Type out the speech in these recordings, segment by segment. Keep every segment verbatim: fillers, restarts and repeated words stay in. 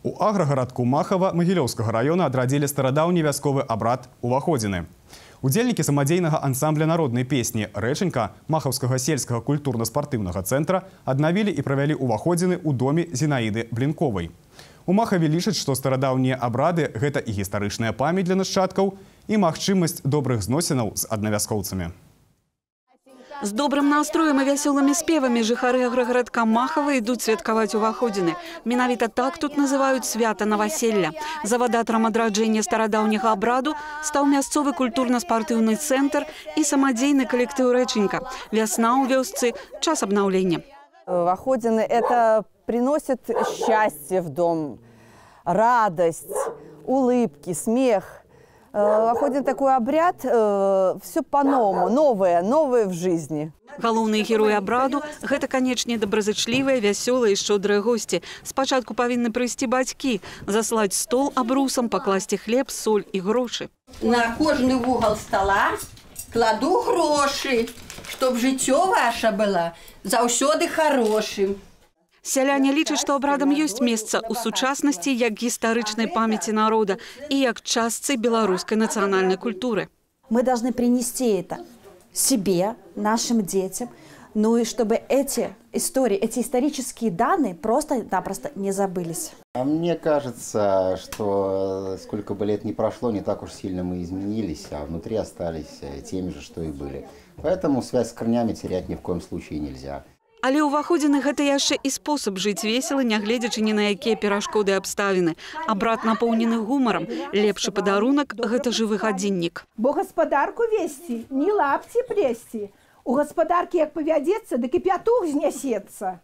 У аграгарадку Махава Магілёўскага района адрадзілі старадаўні вясковы абрад уваходзіны. Удзельнікі самадзейнага ансамбля народнай песні «Рэчанька» Махаўскага сельскага культурна-спартыўнага цэнтра аднавілі і правялі уваходзіны ў доме Зінаіды Блінковай. У Махаве лічаць, што старадаўнія абрады – гэта і гістарычная памяць для нашчадкаў, і магчымасць добрых зносінаў з аднавяскоўцамі. З добрым настроем і вясёлымі спевамі жыхары аграгарадка Махава ідуць святкаваць уваходзіны. Менавіта так тут называюць свята наваселля. Завадатарам адраджэння старадаўняга абраду стаў мясцовы культурна-спартыўны цэнтр і самадзейны калектыў «Рэчанька». Вясна ў вёсцы – час обновления. Уваходзіны – это приносит счастье в дом, радость, улыбки, смех. Уваходзін такой абряд, все по-новому, новое, новое в жизни. Галоўныя героі абраду – гэта, канечне, добразычлівыя, вясёлыя і шчодрыя госці. Спачатку павінны прыйсці бацькі, заслаць стол абрусам, пакласці хлеб, соль і грошы. На кожны вугал стола кладу грошы, чтоб жыццё ваше было заўсёды хорошым. Сяляне лічаць, што абрадам ёсць месца ў сучаснасці як гістарычнай памяці народа і як частцы беларускай нацыянальнай культуры. Мы должны принести это себе, нашим детям, ну и чтобы эти истории, эти исторические данные просто-напросто не забылись. А мне кажется, что сколько бы лет ни прошло, не так уж сильно мы изменились, а внутри остались теми же, что и были. Поэтому связь с корнями терять ни в коем случае нельзя. Але ўваходзіны гэта яшчэ і спосаб жыць весела, нягледзячы ні на якія перашкоды і абставіны. Абрад напоўнены гумарам. Лепшы падарунак – гэта жывы гадзіннік. Бо гаспадарку весці, не лапці плесці. У гаспадаркі як павядзецца, дык і пятух знясецца.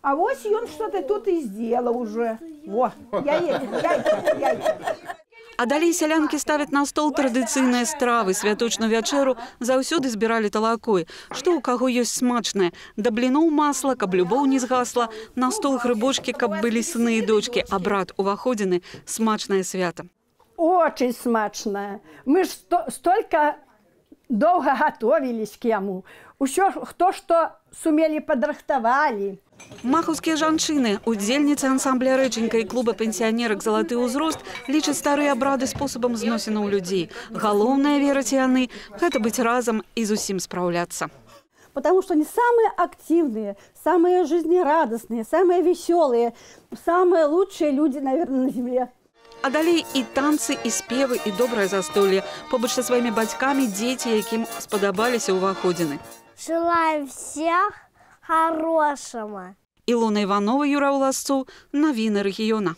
А вось ён што-то тут і здзела ўжо. Во, яйка, яйка, яйка. А далей сялянкі ставяць на стол традыцыйныя стравы. Святочную вячэру заўсёды збіралі талакой. Што ў каго ёсць смачнае. Да бліноў масла, каб любоў не згасла. На стол грыбочкі, каб былі сыны і дочкі. Абрад уваходзіны – смачнае свята. Очень смачное. Мы ж столько долго готовились к яму. Усё, хто што сумелі падрыхтавалі. Махаўскія жанчыны, удзельніцы ансамбля «Рэчанька» і клуба пенсіянерак «Залаты ўзрост» лічаць старыя абрады спосабам зносінаў людзей. Галоўнае, вераць яны, гэта быць разам і зусім спраўляцца. Потому что они самые активные, самые жизнерадостные, самые веселые, самые лучшие люди, наверное, на земле. А далей і танцы, і спевы, і добрае застолле. Побач са сваімі бацькамі дзеці, якім спадабаліся ўваходзіны. Желаю всех хорошего. Илона Иванова, Юра Уласцоў, Навіны рэгіёна.